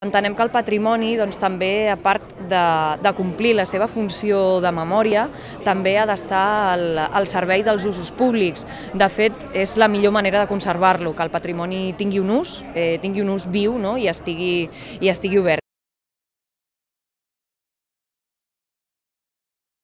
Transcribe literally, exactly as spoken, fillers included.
Entenem que el patrimoni doncs, també, a part de, de complir la seva funció de memòria, també ha d'estar al, al servei dels usos públics. De fet, és la millor manera de conservar-lo, que el patrimoni tingui un ús, eh, tingui un ús viu, no? i, estigui, i estigui obert.